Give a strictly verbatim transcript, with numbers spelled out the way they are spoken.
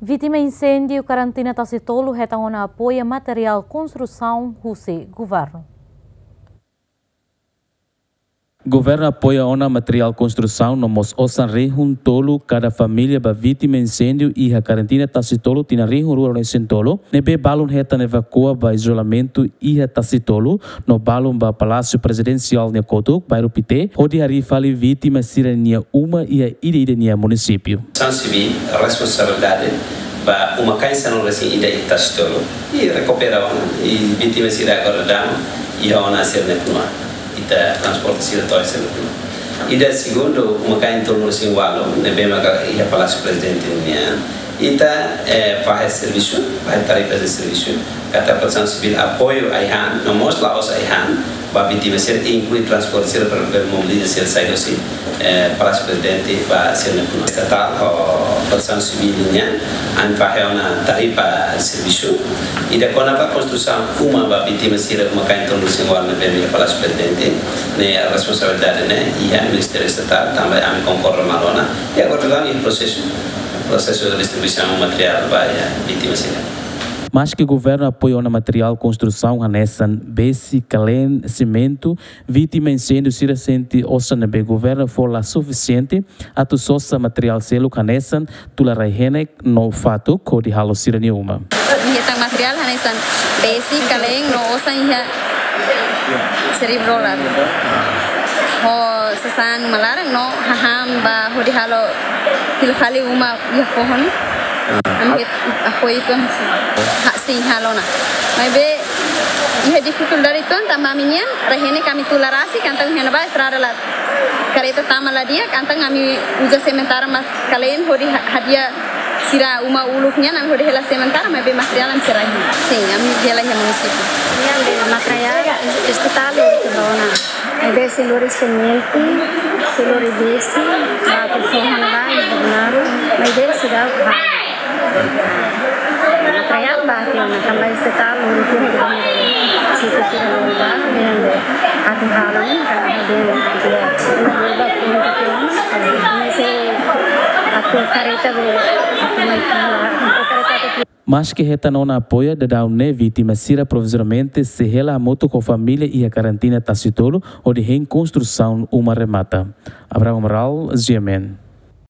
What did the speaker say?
Vítima inséndiu karantina Tasitolu hetan ona apoiu materiál konstrusaun husi governu. Governu apoia ona materiál konstrusaun no mós osan rihun tolu kada família ba vítima inséndiu iha karantina Tasitolu tinan rihun rua ruanulu-resin-tolu, ne'ebé balun hetan evakua ba izolamentu iha Tasitolu, no balun ba Palásiu Prezidensiál nia kotuk, bairru Pité, hodi harii fali vítima sira-nia uma iha ida-idak nia munisípiu. Protesaun Sivíl responsabilidade ba uma-kain sanulu-resin-ida iha Tasitolu, i rekupera ona, i vítima sira agora daudaun iha ona sira-nia knua. Ita transporta sira to'o sira-nia knua. Ida segundu, uma-kain tolunulu-resin-ualu, ne'ebé maka iha Palásiu Prezidente nian. Ita, eh, fahe servisu, fahe tarifa de servisu. Katak Protesaun Sivíl apoiu ai-han, no mós la'ós ai-han, ba vítima sira, inklui transporta sira para, para mobiliza sira sai husi, eh, Palásiu Prezidente ba sira-nia knua. Estatál ho Protesaun Sivíl nian, ami fahe ona tarifa servisu. Ida kona-ba konstrusaun uma ba vítima sira uma-kain tolunulu-resin-ualu ne'ebé iha Palásiu Prezidente, ne'e responsabilidade ne'e iha Ministériu Estatál, tanba ami konkorda malu ona. I agora daudaun iha prosesu, prosesu distribuisaun materiál ba iha vítima sira. Maske governu apoia ona materiál konstrusaun hanesan besi, kaleen, simentu, vítima inséndiu sira sente osan ne'ebé governu fó la sufisiente atu sosa materiál seluk hanesan tula rai-henek no fatuk hodi halo sira-nia uma. Nia hetan materiál hanesan besi, kaleen no osan iha seribu dolar. Ho sasán uma laran no hahán ba hodi halo fila fali uma iha foho ne'e. Ami apoiu uitoan, ha, sin, halo ona. Maibé iha difikuldade uitoan tanba ami-nian rai-henek ami tula rasik, entaun iha ne'ebá estrada la, kareta tama la di'ak, entaun ami uza sementara mak kaleen hodi ha-, hadi'a sira uma uluk nian, ami hodi hela sementara, maibé materiál ami sei rai-henek. Sin, ami hela iha munisípiu. Nian be materiál es-, estatál lori tiha ona. Maibé sei lori simentu, sei lori besi, ba atu foho ona ba iha Bernardo, maibé seidauk ba. Materiál ba tiha ona, tanba estatál lori tiha ona. Sei tiha ona ba, nian be atu halo, tanba be tiha ona. Maibé ba tiha ona, maibé sei atu kareta be, atu mai tiha ona, atu kareta atu Maske hetan ona apoiu, daudaun ne'e vítima sira provizoriamente sei hela hamutuk ho família iha karantina Tasitolu, hodi hein konstrusaun uma remata. Abraham Amaral, G M N.